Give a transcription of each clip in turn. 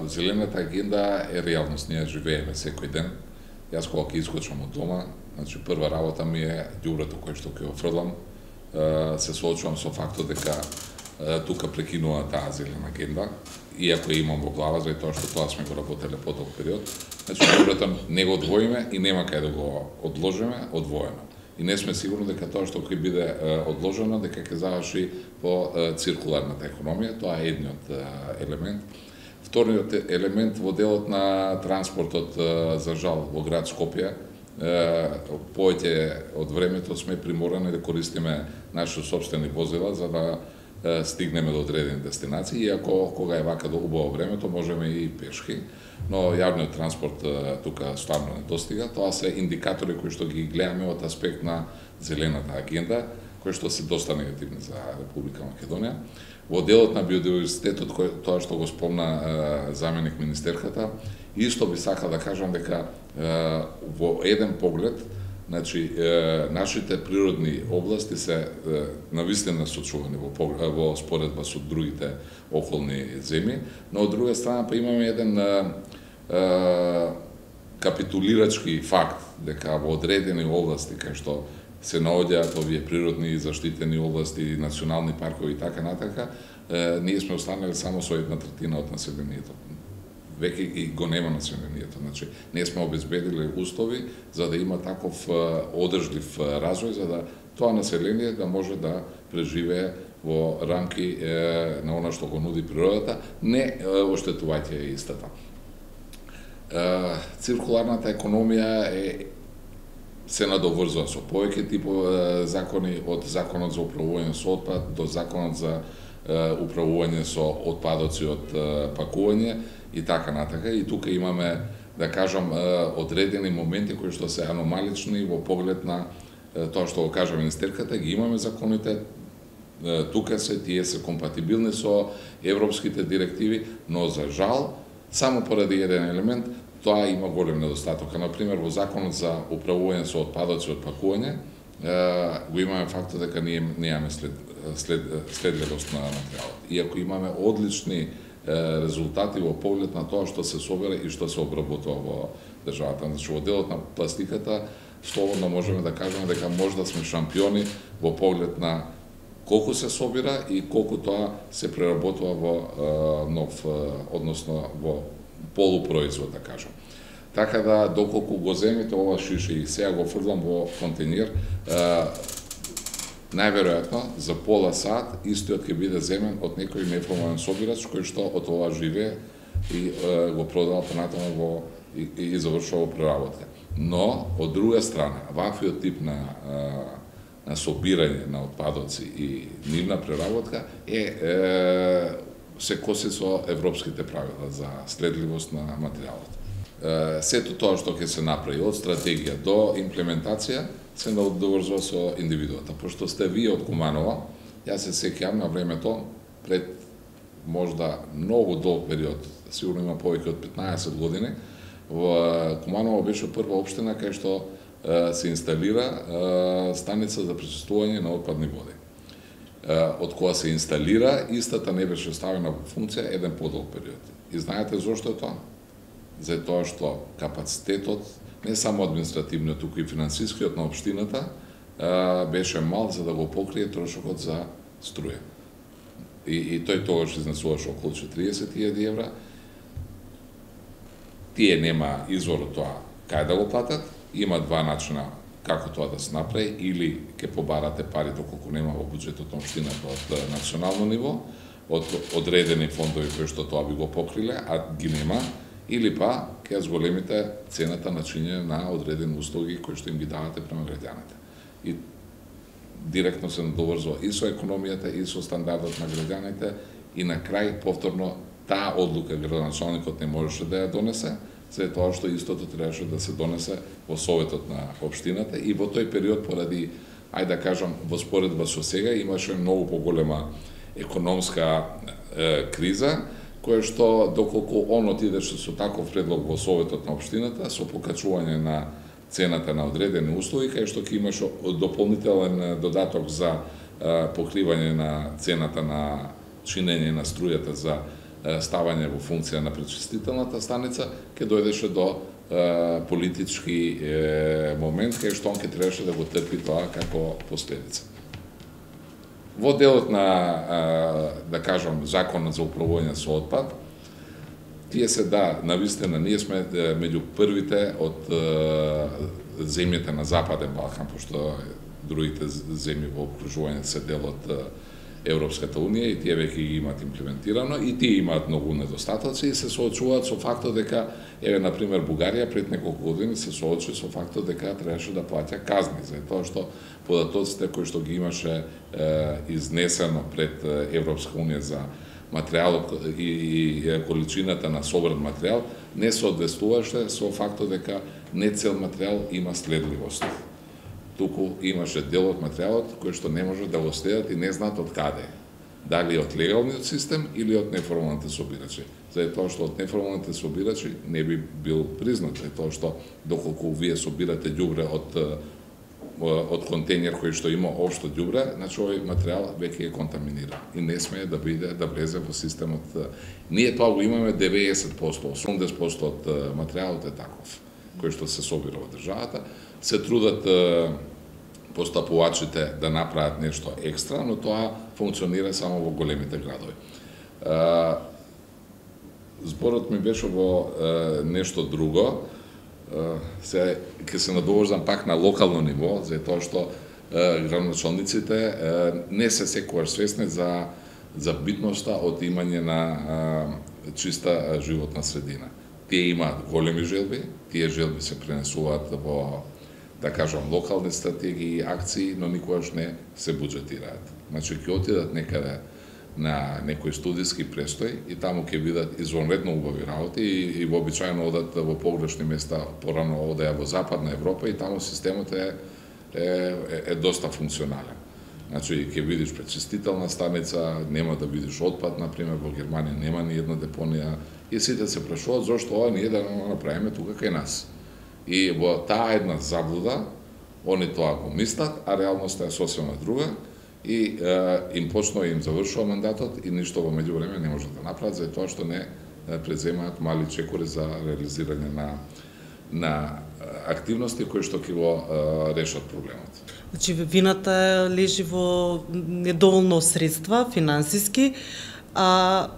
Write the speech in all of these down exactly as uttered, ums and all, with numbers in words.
зелената агенда е реалност, ние живееме секој ден. Јас кога ќе искочам од дома, значи прва работа ми е ѓубрето кој што ќе го фрлам, се соочувам со фактот дека тука прекинува таа зелена агенда, иако имам во глава заради тоа што тоа сме го работеле по долг период. Значи ѓубрето не го одвоиме и нема кај да го одложиме одвоено. И не сме сигурни дека тоа што ќе биде одложено дека ќе заврши по циркуларната економија, тоа е едниот елемент. Вториот елемент во делот на транспортот, за жал, во град Скопје, повеќе од времето сме приморани да користиме наши собствени возила за да стигнеме до одредени дестинации, иако кога е вака до убаво времето можеме и пешки, но јавниот транспорт тука стварно не достига. Тоа се индикатори кои што ги гледаме од аспект на зелената агенда, кои што се доста негативни за Република Македонија. Во делот на биодиверзитетот, тоа што го спомна заменик министерката, исто би сакал да кажам дека во еден поглед, значи нашите природни области се навистина сочувани во во споредба со другите околни земји, но од друга страна па имаме еден капитулирачки факт дека во одредени области кај што се наоѓаат овие природни и заштитени области, национални паркови и така натака, ние сме останали само со една третина од населението. Веќе и го нема населението. Значи, не сме обезбедили услови за да има таков одржлив развој, за да тоа население да може да преживее во рамки е, на она што го нуди природата, не оштетувајќи ја истата. Е, циркуларната економија е се надоврзува со повеќе типови закони, од законот за управување со отпад до законот за управување со отпадоци од пакување и така натака. И тука имаме, да кажам, одредени моменти кои што се аномалични во поглед на тоа што го кажа министерката, ги имаме законите, тука се, тие се компатибилни со европските директиви, но за жал, само поради еден елемент, тоа има голем недостаток. Например, во законот за управување со отпадоци од пакување, го имаме фактот дека ние немаме след, след, следливост на материјалот. Иако имаме одлични резултати во поглед на тоа што се собира и што се обработува во државата. Значи, во делот на пластиката, слободно можеме да кажеме дека можда сме шампиони во поглед на колку се собира и колку тоа се преработува во нов, односно во полупроизвод, да кажам. Така да, доколку го земите ова шише и сега го фрлам во контейнер, најверојатно за пола сат истиот ќе биде земен од некој неформален собирач кој што од ова живее и е, го продава понатаму во и, и завршува преработка. Но од друга страна, ваквиот тип на на собирање на отпадоци и нивна преработка е, е се коси со европските правила за следливост на материјалот. Сето тоа што ќе се направи од стратегија до имплементација се надоврзува со индивидуата. Пошто сте вие од Куманово, јас се сеќавам на времето пред можда многу долг период, сигурно има повеќе од петнаесет години, во Куманово беше прва општина кај што се инсталира станица за пречистување на отпадни води. Од кога се инсталира, истата не беше ставена во функција еден подолг период. И знаете зошто е тоа? За тоа што капацитетот, не само административниот, туку и финансискиот на општината, беше мал за да го покрие трошокот за струја. И, и тој тогаш изнесуваше околу четириесет илјади евра. Тие нема извор од тоа кај да го платат, има два начина како тоа да се направи, или ќе побарате пари доколку нема во буџетот на општината од национално ниво, од одредени фондови кои што тоа би го покриле, а ги нема, или па ќе зголемите цената на чинење на одредени услуги кои што им ги давате према граѓаните. И директно се надоврзува и со економијата, и со стандардот на граѓаните, и на крај, повторно, таа одлука градоначалникот не можеше да ја донесе, за тоа што истото требаше да се донесе во советот на општината и во тој период поради, ајде да кажам, во споредба со сега имаше многу поголема економска е, криза, која што доколку он отидеше со таков предлог во советот на општината, со покачување на цената на одредени услуги, кај што ќе имаше дополнителен додаток за е, покривање на цената на чинење на струјата за ставање во функција на пречистителната станица, ќе дојдеше до политички момент кај што он ќе требаше да го трпи тоа како последица. Во делот на, да кажам, законот за управување со отпад, тие се да, навистина, ние сме меѓу првите од земјите на Западен Балкан, пошто другите земји во окружување се дел од Европската унија и тие веќе ги имаат имплементирано и тие имаат многу недостатоци и се соочуваат со фактот дека, еве, например, Бугарија пред неколку години се соочи со фактот дека требаше да плаќа казни за тоа што податоците кои што ги имаше е, изнесено пред Европска унија за материјалот и, и количината на собран материјал не соодветствуваше со фактот дека не цел материјал има следливост. Туку имаше дел од материјалот кој што не може да го следат и не знаат од каде. Дали од легалниот систем или од неформалните собирачи. За тоа што од неформалните собирачи не би бил признат, за тоа што доколку вие собирате ѓубре од од контејнер кој што има општо ѓубре, значи овој материјал веќе е контаминиран и не смее да биде да влезе во системот. Ние тоа го имаме деветдесет проценти, осумдесет проценти од материјалот е таков кој што се собира во државата. Се трудат постапувачите да направат нешто екстра, но тоа функционира само во големите градови. Зборот ми беше во нешто друго. Се ќе се надоврзам пак на локално ниво, за тоа што градоначалниците не се секогаш свесни за за битноста од имање на чиста животна средина. Тие имаат големи желби, тие желби се пренесуваат во, да кажам, локални стратегии и акции, но никогаш не се буџетираат. Значи, ќе отидат некаде на некој студиски престој и таму ќе видат извонредно убави работи и, и вообичаено одат во погрешни места, порано одеа во Западна Европа и таму системот е, е, е, е доста функционален. Значи, ќе видиш пречистителна станица, нема да видиш отпад, например, во Германија нема ни една депонија, и сите се прашуваат зошто ова ние да го направиме тука кај нас. И во таа една заблуда, они тоа го мислат, а реалноста е сосема друга, и е, им почнува и им завршува мандатот и ништо во меѓувреме не можат да направат, за тоа што не преземаат мали чекори за реализирање на, на активности кои што ќе го е, решат проблемот. Значи, вината лежи во недоволно средства, финансиски, а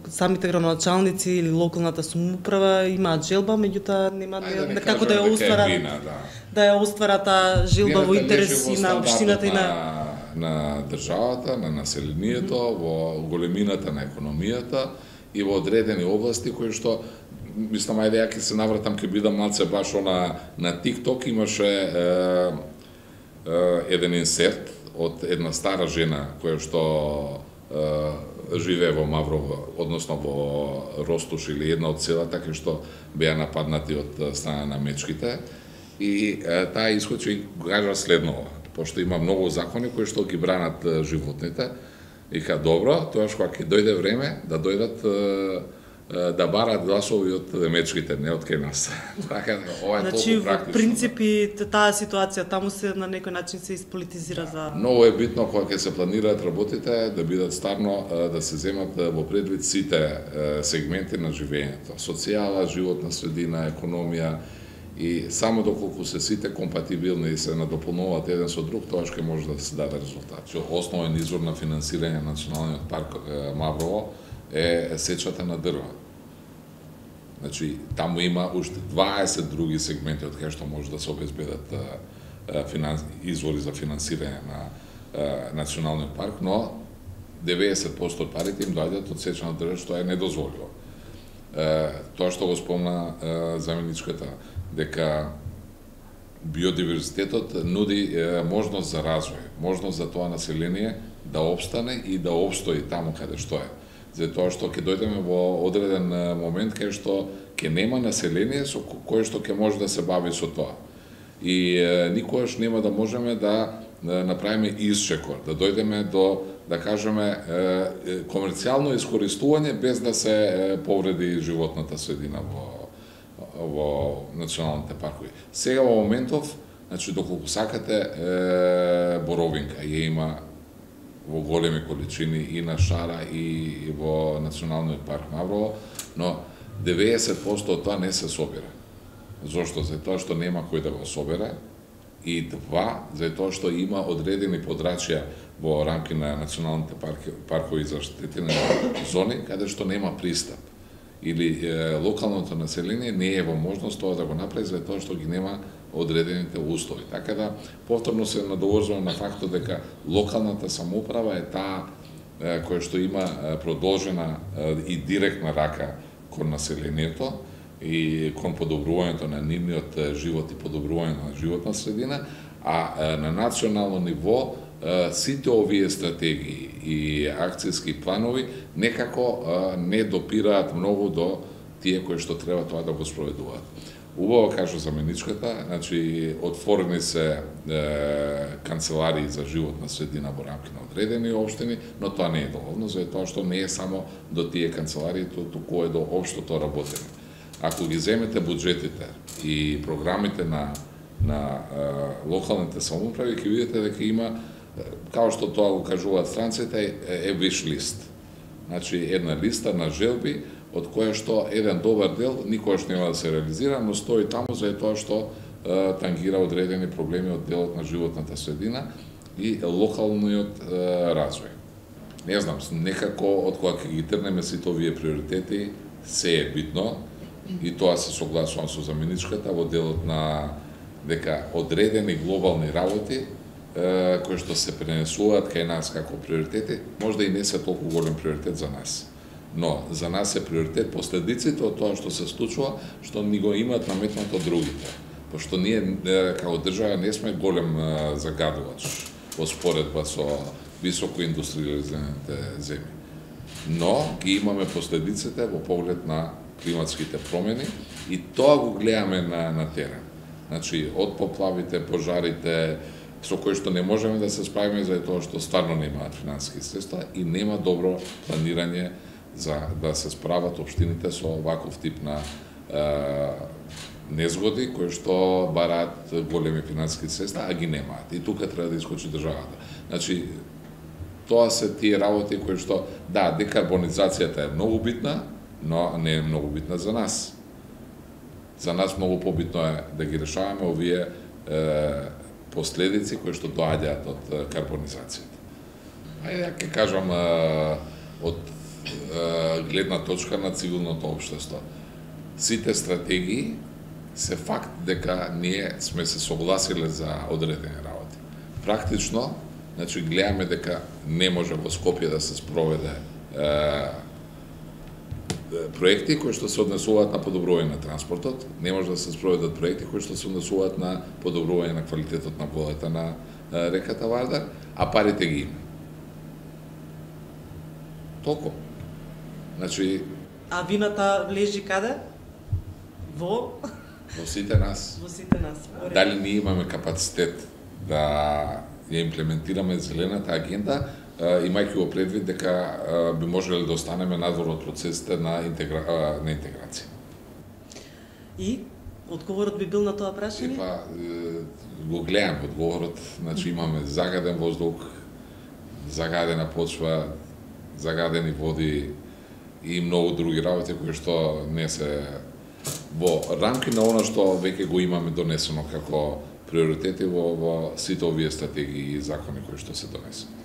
самите градоначалници или локалната самоуправа имаат желба, меѓутоа нема да како да ја остварат, вина, да. да ја остварат таа желба во интерес и на општината и на на државата, на населението, mm -hmm. во големината на економијата и во одредени области кои што мислам, ајде ја ќе се навратам, ќе бидам малце баш на на TikTok имаше е, е, еден инсерт од една стара жена која што е, живее во Маврово, односно во Ростуш или една од селата кај што беа нападнати од страна на мечките и е, таа исходи и кажа следново, пошто има многу закони кои што ги бранат животните, и ка добро, тоаш кога ќе дојде време да дојдат да барат гласови од мечките, не од кај нас. Така, ова е значи, толку практично. Во принципи, таа ситуација таму се на некој начин се исполитизира за... Многу е битно кога ќе се планираат работите да бидат ставно, да се земат во предвид сите сегменти на живењето. Социјала, животна средина, економија, и само доколку се сите компатибилни и се надополнуваат еден со друг, тоа ќе може да се даде резултат. Основен извор на финансирање на Националниот парк Маврово е сечата на дрва. Значи, таму има уште дваесет други сегменти од кај што може да се обезбедат финанс... извори за финансирање на Националниот парк, но деветдесет проценти од парите им доаѓаат од сеча на дрва, што е недозволиво. Тоа што го спомна заменичката, дека биодиверзитетот нуди можност за развој, можност за тоа население да обстане и да обстои таму каде што е. Затоа што ќе дојдеме во одреден момент кај што ќе нема население со кое што ќе може да се бави со тоа. И е, никогаш нема да можеме да направиме исчекор, да дојдеме до, да кажеме, е, комерцијално искористување без да се повреди животната средина во во националните паркови. Сега во моментов, значи доколку сакате, е, Боровинка ја има во големи количини и на Шара и во Националниот парк Маврово, но деветдесет проценти од тоа не се собира. Зошто? За тоа што нема кој да го собере, и два, за тоа што има одредени подрачја во рамки на националните парки, паркови и заштитени зони, каде што нема пристап. Или е, локалното население не е во можност тоа да го направи, за тоа што ги нема одредените услови. Така да, повторно се надоврзувам на фактот дека локалната самоуправа е таа е, која што има продолжена е, и директна рака кон населението, и кон подобрувањето на нивниот живот и подобрувањето на животна средина, а на национално ниво сите овие стратегии и акцијски планови некако не допираат многу до тие кои што треба тоа да го спроведуваат. Убаво кажа заменичката, значи отворени се е, канцеларии за животна средина во рамки на одредени општини, но тоа не е доволно, за тоа што не е само до тие канцеларии, туку е до општото работење. Ако ги земете буџетите и програмите на на е, локалните самоуправи, ќе видите дека има, као што тоа го кажуваат странците, е, е wish list. Значи една листа на желби од која што еден добар дел никогаш нема да се реализира, но стои таму за тоа што е, тангира одредени проблеми од делот на животната средина и локалниот е, развој. Не знам, некако од кога ќе ги трнеме сите овие приоритети, се е битно, и тоа се согласувам со заменичката во делот на дека одредени глобални работи е, кои што се пренесуваат кај нас како приоритети, можда и не се толку голем приоритет за нас. Но за нас е приоритет последиците од тоа што се случува, што ни го имаат наметнато другите. Пошто ние како држава не сме голем загадувач во споредба со високо индустриализираните земји. Но ги имаме последиците во поглед на климатските промени и тоа го гледаме на, на терен. Значи, од поплавите, пожарите, со кои што не можеме да се справиме за тоа што стварно немаат финансиски средства и нема добро планирање за да се справат општините со ваков тип на е, незгоди кои што бараат големи финансиски средства, а ги немаат. И тука треба да искочи државата. Значи, тоа се тие работи кои што, да, декарбонизацијата е многу битна, но не е многу битна за нас. За нас многу побитно е да ги решаваме овие е, последици кои што доаѓаат од е, карбонизацијата. Ајде, ќе кажам, е, од е, гледна точка на цивилното општество. Сите стратегии се факт дека ние сме се согласиле за одредени работи. Практично, значи, гледаме дека не може во Скопје да се спроведе е, проекти кои што се однесуваат на подобрување на транспортот, не може да се спроведат проекти кои што се однесуваат на подобрување на квалитетот на водата на реката Вардар, а парите ги има. Толку. Значи, а вината влежи каде? Во во сите нас. Во сите нас. Дали ние имаме капацитет да ја имплементираме зелената агенда, имајќи го предвид дека би можеле да останеме надвор од процесите на, интегра... на интеграција. И одговорот би бил на тоа прашање? Па, го гледам одговорот, значи имаме загаден воздух, загадена почва, загадени води и многу други работи кои што не се во рамки на она што веќе го имаме донесено како приоритети во, во сите овие стратегии и закони кои што се донесени.